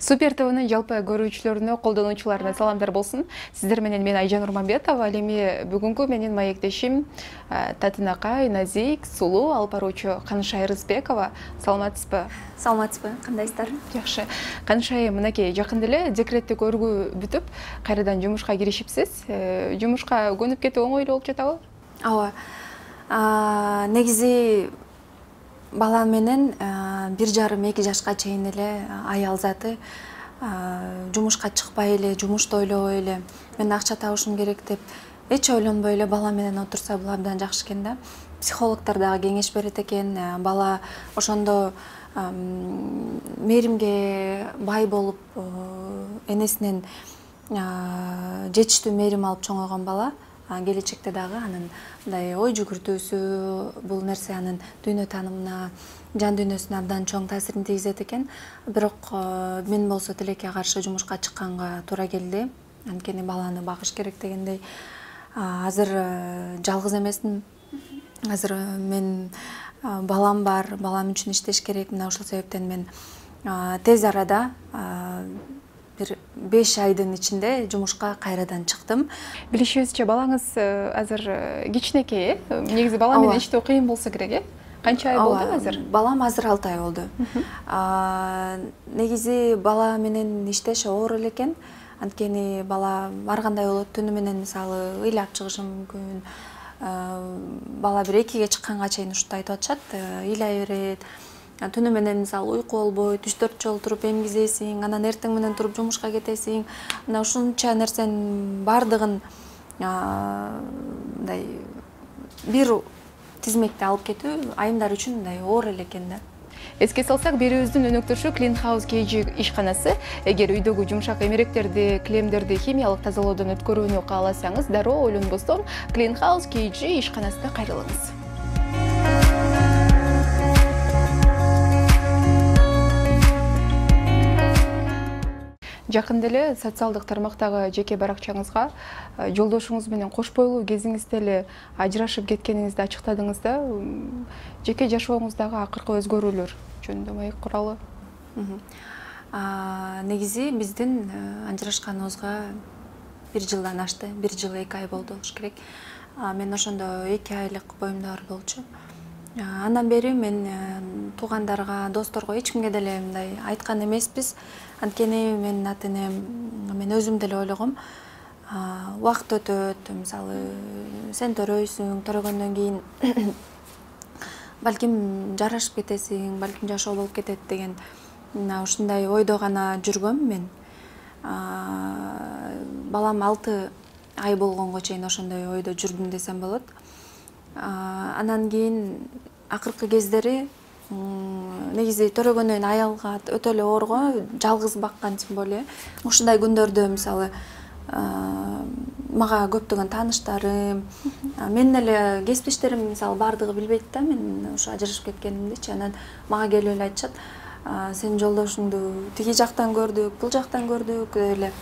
Супер ТВнын жалпы көрүүчүлөрүнө, колдонуучуларына саламдар болсун. Сиздер менен мен Айжан Урманбетова, ал эми бүгүнкү менин маектешим Татынакай, Назик, Сулуу алып баруучу Канышай Рызбекова. Саламатсызбы? Саламатсызбы, кандайсыздар? Жакшы. Канышай, мынакей жакында эле декреттик өргүү бүтүп, кайрадан жумушка киришипсиз. Жумушка көнүп кетүү оңой эле болуп жатабы? Ооба. Негизи бала менен 1,5-2 жашка чейин эле аял заты жумушка чыкпай эле, жумушту ойлобой эле, мен акча табышым керек деп эч ойлонбой эле бала менен отурса бул абдан жакшы экен да. Психологдор дагы кеңеш берет экен, бала ошондо мээримге бай болуп, энесинен жетиштүү мээрим алып чоңойгон бала келечекте дагы анын мындай ой жүгүртүүсү, бул нерсе анын дүйнө таанымына, жан дүйнөсүнө абдан чоң таасирин тийгизет экен. Бирок мен болсо тилекке каршы жумушка чыкканга туура келди. Анткени баланы багыш керек дегендей. Азыр жалгыз эмесмин. Азыр мен балам бар, балам үчүн иштеш керек. Мына ошол себептен мен тез арада бир 5 айдын ичинде жумушка кайрадан чыктым. Билишибизче, балаңыз азыр кичинекей, негизи бала менен иштөө кыйын болсо керек, Канча ай болду азыр? Балам азыр 6 ай болду. Негизи бала менен иштеш оор эле экен. Анткени бала ар кандай болот, түнү менен мисалы ыйлап чыгышы мүмкүн. Бала бир 2ге чыкканга чейин ушундай айтып атышат, ыйлай берет. Түнү менен мисалы уйку болбойт, 3-4 жолу туруп эмгизесиң, анан эртең менен туруп жумушка кетесиң. Мына ушунча нерсенин баардыгын мындай бир тизмекте алып кетүү айымдар үчүн мындай оор эле экен да. Эске салсак, берүүбүздүн өнөктөшү Clean House KG ишканасы. Эгер үйдөгү жумшак эмеректерди, килемдерди химиялык тазалоодон өткөрүүнү кааласаңыз, дароо ойлонбостон Clean House KG ишканасына кайрылыңыз. Жакында эле социалдык тармактагы жеке баракчаңызга жолдошуңуз менен кош бойлуу кезиңизде эле ажырашып кеткениңизди ачыктадыңыз да. Жеке жашооңуздагы акыркы өзгөрүүлөр жөнүндө маек куралы. Негизи биздин ажырашканыбызга 1 жылдан ашты, 1 жыл 2 ай болду болуш керек. Мен ошондо 2 айлык боюмда бар болчу. Андан бери мен туугандарга, досторго эч кимге деле мындай айткан эмеспиз. Анткени менин ата-энем, мен өзүм деле ойлогом. Убакыт өтөт, мисалы сен төрөйсүң, төрөгөндөн кийин балким жарашып кетесиң, балким жашоо болуп кетет деген ушундай ойдо гана жүргөм мен. Балам 6 ай болгонго чейин ошондой ойдо жүрдүм десем болот. Анан кийин акыркы кездери негизи төрөгөндөн кийин аялга өтө эле оорго, жалгыз баккан боле. Ушундай күндөрдө мисалы мага көптөгөн тааныштарым, менин эле кесиптештерим мисалы бардыгы билбейт да, мен ошо ажырашып кеткенимдичи. Анан мага келип эле айтышат, сен жолдошуңду тиги жактан көрдүк, бул жактан көрдүк эле.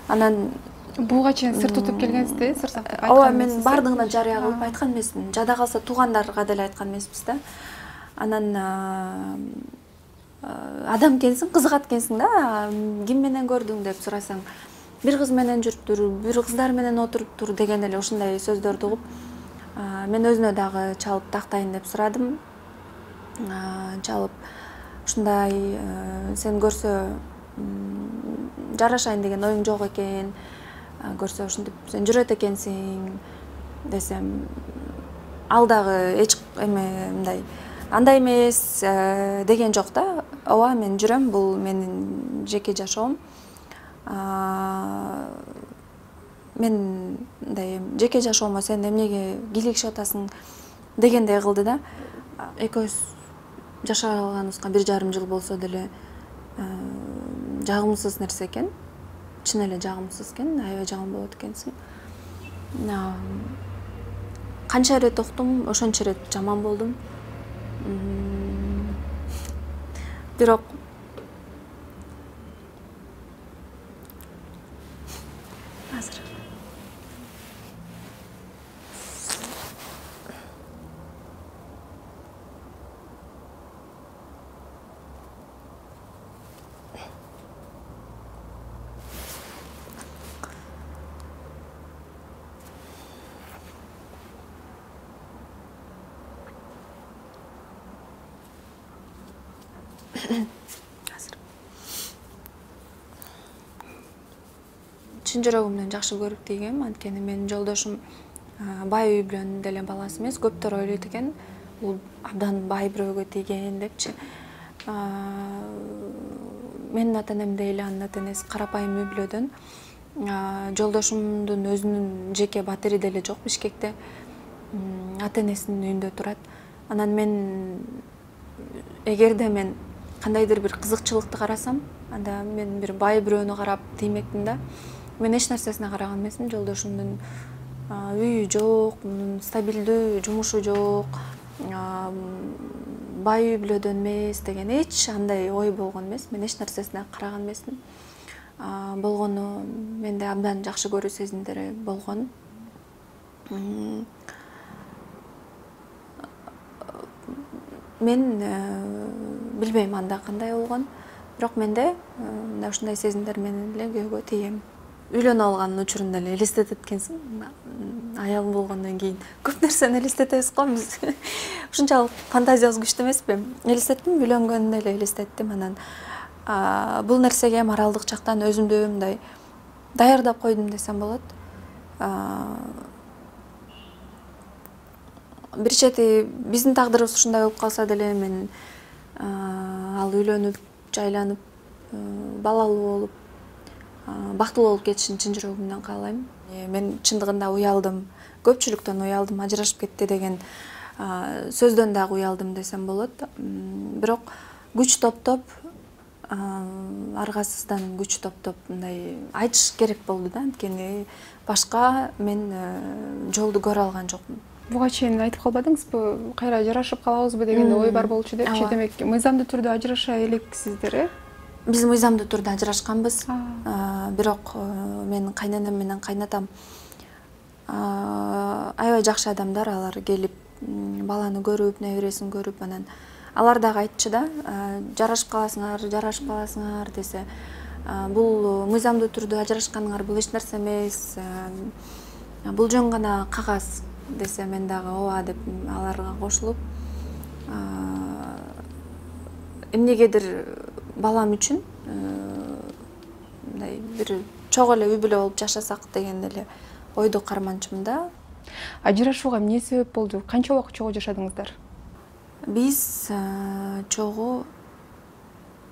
Анан буга чейин сыр тутуп келгенсизди, сыр сактап айткан. Ооба, мен бардыгына жарыя кылып айткан эмесмин. Жада калса туугандарга деле айткан эмеспиз да. Анан адам экенсиң, кызыгат экенсиң да, ким менен көрдүң деп сурасаң, бир кыз менен жүрүптүр, бир кыздар менен отуруптур деген эле ушундай сөздөрдү угуп, мен өзүнө дагы чалып тактайын деп сурадым. Чалып ушундай сен көрсө жарашайын деген оюң жок экен, көрсө ушинтип сен жүрөт экенсиң десем, ал дагы эч эме мындай андай эмес деген жок да. Ооба, мен жүрөм, бул менин жеке жашоом. Мен мындай жеке жашоомо сен эмнеге кийлигишип атасың дегендей кылды да. Экөөбүз жашаганыбызга 1,5 жыл болсо деле жагымсыз нерсе экен. Чын эле жагымсыз экен, аябай жагым болот экенсиң. Канча ирет уктум, ошончо ирет жаман болдум. Бирок азыр чын жүрөгүмдөн жакшы көрүп тийгем. Анткени менин жолдошум бай үй бүлөнүн деле баласы эмес. Көптөр ойлойт экен, бул абдан бай бирөөгө тийген депчи. Менин ата-энем эле анын ата-энеси карапайым үй бүлөдөн. Жолдошумдун өзүнүн жеке батири деле жок Бишкекте. Ата-энесинин үйүндө турат. Анан мен эгерде мен кандайдыр бир кызыкчылыкты карасам, анда мен бир бай бирөөнү карап тиймекмин да. Мен эч нерсесине караган эмесмин. Жолдошумдун үйү жок, стабилдүү жумушу жок, бай үй бүлөдөн эмес деген эч андай ой болгон эмес. Мен эч нерсесине караган эмесмин. Болгону менде абдан жакшы көрүү сезимдери болгон. Мен билбейм анда кандай болгон, бирок менде мындай ушундай сезимдер менен эле күйөөгө тийгем. Үйлөнүп алган учурунда эле элестетет экенсиң. Аял болгондон кийин көп нерсени элестетебиз го биз. Ушунчалык фантазиябыз күчтүү эмеспи? Элестеттим, үйлөнгөндө эле элестеттим. Анан бул нерсеге моралдык жактан өзүмдү мындай даярдап койдум десем болот. Бир чети биздин тагдырыбыз ушундай болуп калса деле мен ал үйлөнүп, жайланып, балалуу болуп, бактылуу болуп кетишин чын жүрөгүмдөн каалайм. Мен чындыгында уялдым, көпчүлүктөн уялдым, ажырашып кетти деген сөздөн дагы уялдым десем болот. Бирок күч топтоп, аргасыздан күч топтоп мындай айтыш керек болду да, анткени башка мен жолду көрө алган жокмун. Буга чейин айтып калбадыңызбы, кайра ажырашып калабызбы деген ой бар болчу депчи. Демек, мыйзамдуу түрдө ажыраша элексиздер, э? Биз мыйзамдуу түрдө ажырашканбыз. Бирок менин кайненем менен кайнатам аябай жакшы адамдар. Алар келип баланы көрүп, небересин көрүп, анан алар дагы айтчу да, жарашып каласыңар десе. Бул мыйзамдуу түрдө ажырашканыңар бул эч нерсе эмес. Бул жөн гана кагаз десе, мен дагы ооба деп аларга кошулуп, эмнегедир балам үчүн мындай бир чогуу эле үй бүлө болуп жашасак деген эле ойду карманчумун да. Ажырашууга эмне себеп болду? Канча убакыт чогуу жашадыңыздар? Биз чогуу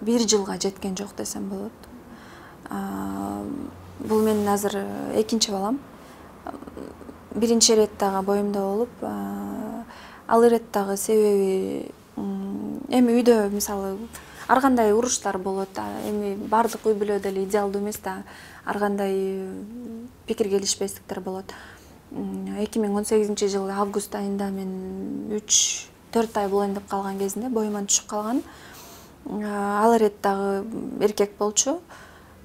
1 жылга жеткен жок десем болот. Бул менин азыр экинчи балам. Биринчи ирет дагы боюмда болуп, ал ирет дагы себеби эми үйдө мисалы ар кандай уруштар болот. Эми бардык үй бүлө деле идеалдуу эмес да, ар кандай пикир келишпестиктер болот. 2018-жылы август айында мен 3-4 ай болоюн деп калган кезинде боюман түшүп калган. Ал ирет дагы эркек болчу.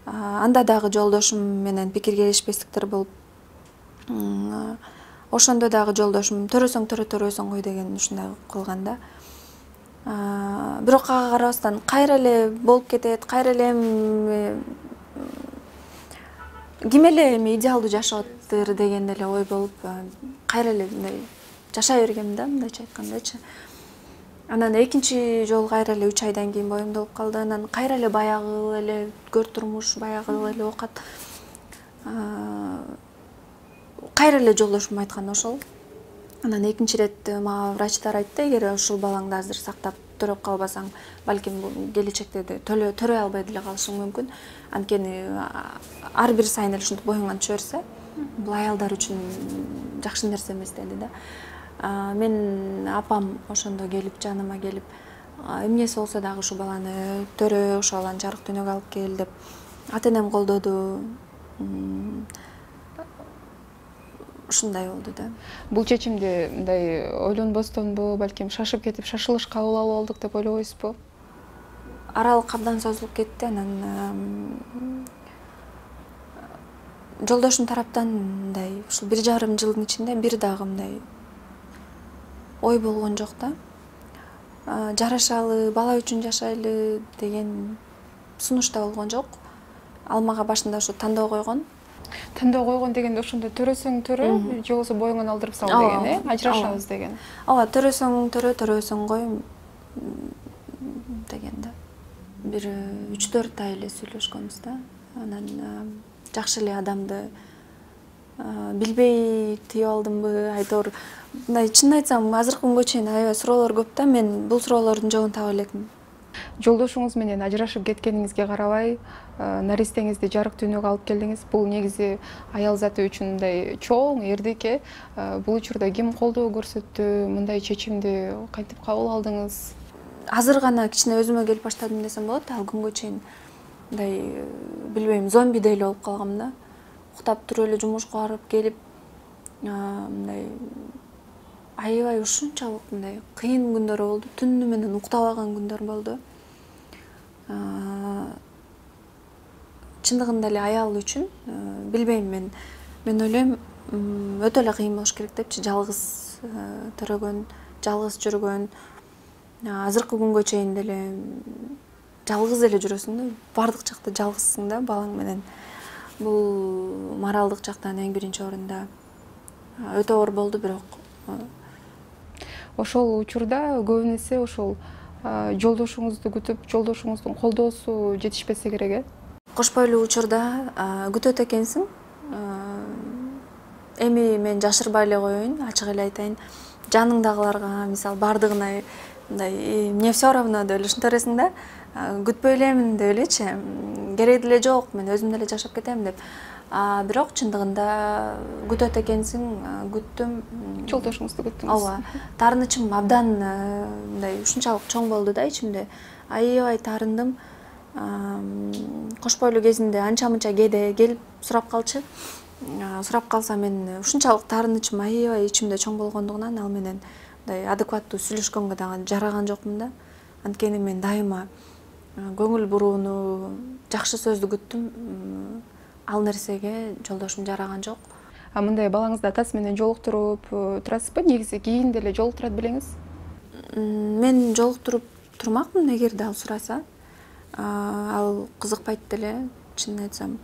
Анда дагы жолдошум менен пикир келишпестиктер болуп, ошондо дагы жолдошум төрөсөң кой деген ушундай кылган да. Бирок ага карабастан кайра эле болуп кетет, кайра эле ким эле эми идеалдуу жашаптыр деген эле ой болуп, кайра эле мындай жашай бергем да, мындайча айткандачы. Анан экинчи жолу кайра эле 3 айдан кийин боюмда болуп калды. Анан кайра эле баягы эле көр турмуш, баягы эле оокат. Кайра эле жолдошум айткан ошол. Анан экинчи ирет мага врачтар айтты, эгер ушул балаңды азыр сактап төрөп калбасаң, балким келечекте төрөй албай деле калышың мүмкүн. Анткени ар бир сайын эле ушинтип боюңан түшө берсе, бул аялдар үчүн жакшы нерсе эмес деди да. Мен апам ошондо келип, жаныма келип, эмнеси болсо дагы ушу баланы төрө, ошол баланы жарык дүйнөгө алып кел деп, ата-энем колдоду. Ушундай болду да. Бул чечимди мындай ойлонбостонбу, балким шашып кетип, шашылыш кабыл алып алдык деп ойлобойсузбу? Аралык абдан созулуп кетти. Анан жолдошум тараптан мындай ушул 1,5 жылдын ичинде бир дагы мындай ой болгон жок да. Жарашалы, бала үчүн жашайлы деген сунуш да болгон жок. Ал мага башында ушу тандоо койгон. Тандоо койгон дегенде ошондо төрөсөң төрө, же болбосо боюңан алдырып сал деген, ажырашабыз деген. Ооба, төрөсөң төрө, төрөсөң кой деген да. Бир 3-4 ай эле сүйлөшкөнбүз да. Анан жакшы эле адамды билбей тийип алдымбы, айтор мындай чынын айтсам азыркы күнгө чейин аябай суроолор көп да, мен бул суроолордун жообун таба элекмин. Жолдошуңуз менен ажырашып кеткениңизге карабай, наристеңизди жарык дүйнөгө алып келдиңиз. Бул негизи аял заты үчүн мындай чоң эрдик. Бул учурда ким колдоо көрсөттү, мындай чечимди кантип кабыл алдыңыз? Азыр гана кичине өзүмө келип баштадым десем болот. Ал күнгө чейин мындай билбейм, зомбидей эле болуп калгам да. Уктап туруп эле жумушка барып келип, мындай аябай ушунчалык мындай кыйын күндөр болду. Түнү менен уктабаган күндөр болду. Чындыгында эле аял үчүн билбейм, мен ойлойм өтө эле кыйын болуш керек депчи, жалгыз төрөгөн, жалгыз жүргөн. Азыркы күнгө чейин деле жалгыз эле жүрөсүң да, бардык жакта жалгызсың да балаң менен. Бул моралдык жактан эң биринчи орунда өтө оор болду, бирок Ошол учурда көбүн ошол жолдошуңузду күтүп, жолдошуңуздун колдоосу жетишпесе керек, кош бойлуу учурда күтөт экенсиң. Эми мен жашырбай эле коеюн, ачык эле айтайын. Жаныңдагыларга, мисалы, бардыгына мындай мне все равно деп эле ушинте бересиң да, күтпөй элемин деп элечи, кереги деле жок, мен өзүм деле жашап кетем деп. Бирок чындыгында күтөт экенсиң, күттүм. Жолдошуңузду күттүңүз. Ооба, таарынычым абдан мындай ушунчалык чоң болду да ичимде. Аябай таарындым. Кош бойлуу кезинде анча-мынча кээде келип сурап калчу. Сурап калса мен ушунчалык таарынычым аябай ичимде чоң болгондугунан ал менен мындай адекваттуу сүйлөшкөнгө дагы жараган жокмун да. Анткени мен дайыма көңүл бурууну, жакшы сөздү күттүм. Ал нерсеге жолдошум жараган жок. Мындай балаңызды атасы менен жолуктуруп турасызбы? Негизи кийин деле жолуктурат белеңиз? Мен жолуктуруп турмакмын эгерде ал сураса. Ал кызыкпайт деле, чынын айтсам.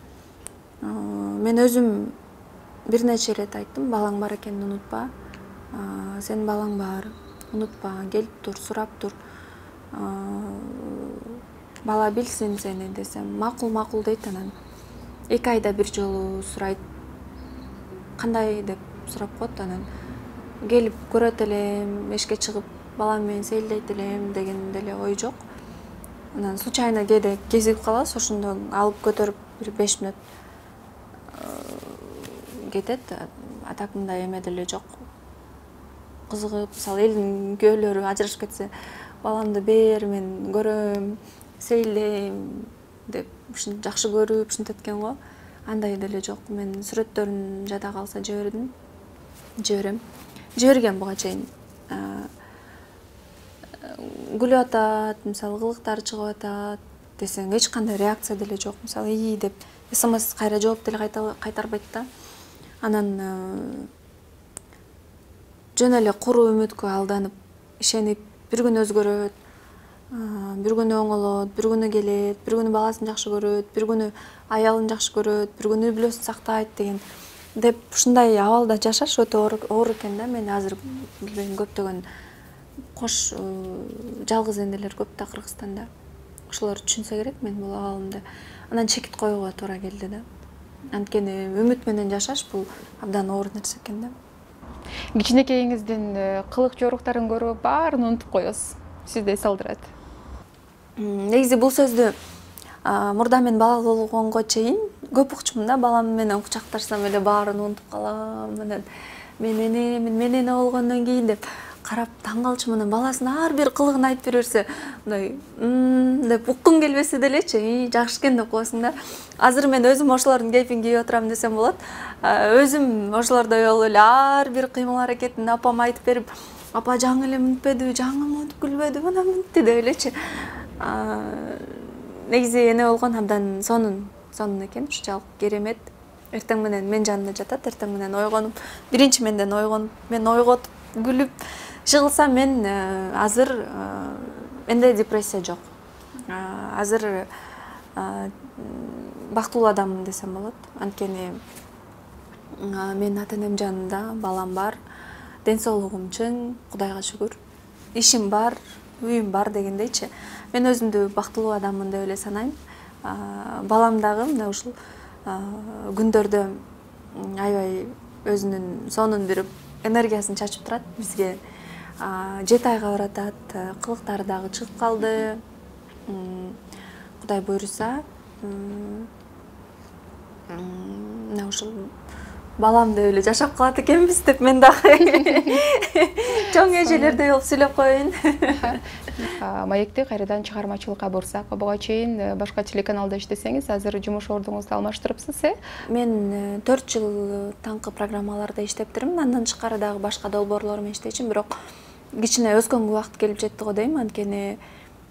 Мен өзүм бир нече ирет айттым, балаң бар экенин унутпа. Сенин балаң бар, унутпа, келип тур, сурап тур. Бала билсин сени десем, макул дейт. Анан 2 айда бир жолу сурайт. Кандай деп сурап коет. Анан келип көрөт элем, эшикке чыгып балам менен сейилдейт элем деген деле ой жок. Анан случайно кээде кезигип калабыз, ошондо алып көтөрүп бир 5 мүнөт кетет. А так мындай эме деле жок. Кызыгып, мисалы, элдин күйөөлөрү ажырашып кетсе, баламды бер, мен көрөм, сейилдейм деп ушинтип жакшы көрүп ушинтет экен го. Андай деле жок. Мен сүрөттөрүн жада калса жиберем. Жиберген буга чейин. Күлүп атат, мисалы, кылыктары чыгып атат десең, эч кандай реакция деле жок. Мисалы, ии деп СМС кайра жооп деле кайтарбайт да. Анан жөн эле куру үмүткө алданып, ишенип, бир күн өзгөрөт, бир күнү оңолот, бир күнү келет, бир күнү баласын жакшы көрөт, бир күнү аялын жакшы көрөт, бир күнү үй бүлөсүн сактайт деген деп ушундай абалда жашаш өтө оор экен да. Мен азыр билбейм, көптөгөн кош жалгыз энелер көп да Кыргызстанда. Ошолор түшүнсө керек мен бул абалымды. Анан чекит коюуга туура келди да. Анткени үмүт менен жашаш бул абдан оор нерсе экен да. Кичинекейиңиздин кылык жоруктарын көрүп баарын унутуп коесуз. Сизди эс алдырат. Негизи бул сөздү мурда мен бала болгонго чейин көп укчумун да. Балам менен кучакташсам эле баарын унутуп калам. Анан мен эне болгондон кийин деп карап таң калчумун. Анан баласынын ар бир кылыгын айтып бере берсе, мындай деп уккуң келбесе делечи, жакшы экен деп коесуң да. Азыр мен өзүм ошолордун кейпин кийип отурам десем болот. Өзүм ошолордой болуп эле ар бир кыймыл аракетин апама айтып берип, апа жаңы эле мынтпеди, жаңы монтип күлбөдү, мына мынтти деп элечи. Негизи эне болгон абдан сонун экен, ушунчалык керемет. Эртең менен мен жанымда жатат, эртең менен ойгонуп, биринчи менден ойгонуп, мен ойготуп, күлүп жыгылсам, мен азыр менде депрессия жок. Азыр бактылуу адаммын десем болот. Анткени мен ата-энем жанында, балам бар, ден соолугум чың, Кудайга шүгүр. Ишим бар, үйүм бар дегендейчи. Мен өзүмдү бактылуу адаммын деп эле санайм. Балам дагы мына ушул күндөрдө аябай өзүнүн сонун бир энергиясын чачып турат бизге. 7 айга баратат, кылыктары дагы чыгып калды. Кудай буйруса, мына ушул балам деп эле жашап калат экенбиз деп мен дагы чоң эжелердей болуп сүйлөп коеюн. Маекти кайрадан чыгармачылыкка бурсак, буга чейин башка телеканалда иштесеңиз, азыр жумуш ордуңузду алмаштырыпсыз, Мен 4 жыл таңкы программаларда иштептирмин. Андан тышкары дагы башка долбоорлор менен иштечүмүн, бирок кичине өскөнгө убакыт келип жетти го дейм. Анткени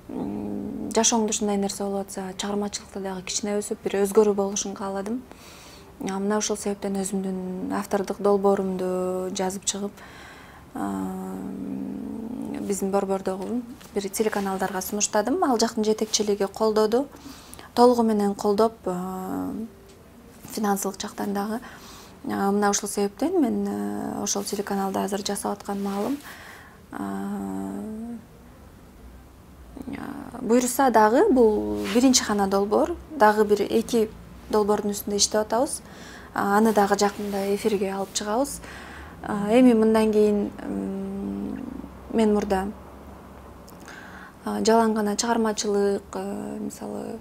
жашооңдо ушундай нерсе болуп атса, чыгармачылыкта дагы кичине өсүп, бир өзгөрүү болушун кааладым. Мына ошол себептен өзүмдүн автордук долбоорумду жазып чыгып, биздин борбордогу бир телеканалдарга сунуштадым. Ал жактын жетекчилиги колдоду, толугу менен колдоп, финансылык жактан дагы. Мына ошол себептен мен ошол телеканалда азыр жасап аткан маалым. Буйруса дагы бул биринчи гана долбоор, дагы бир 2 долбоордун үстүндө иштеп атабыз. Аны дагы жакында эфирге алып чыгабыз. Эми мындан кийин мен мурда жалаң гана чыгармачылык, мисалы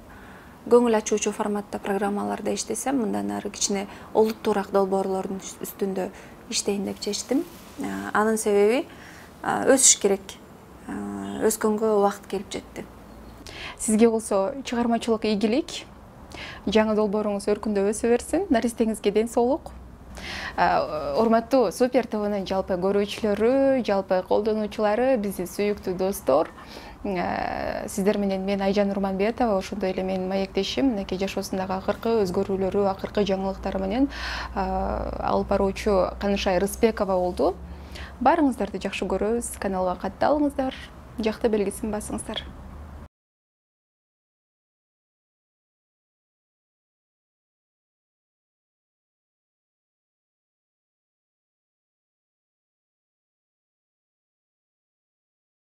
көңүл ачуучу форматта программаларда иштесем, мындан ары кичине олуттуураак долбоорлордун үстүндө иштейин деп чечтим. Анын себеби өсүш керек. Өскөнгө убакыт келип жетти. Сизге болсо чыгармачылык ийгилик, жаңы долбооруңуз өркүндөп өсө берсин, наристеңизге ден соолук. Урматтуу Супер ТВнын жалпы көрүүчүлөрү, жалпы колдонуучулары, биздин сүйүктүү достор, сиздер менен мен Айжан Нурманбетова, ошондой эле менин маектешим, мынакей жашоосундагы акыркы өзгөрүүлөрү, акыркы жаңылыктары менен алып баруучу Канышай Рыспекова болду. Баарыңыздарды жакшы көрөбүз, каналга катталыңыздар, жакты белгисин басыңыздар.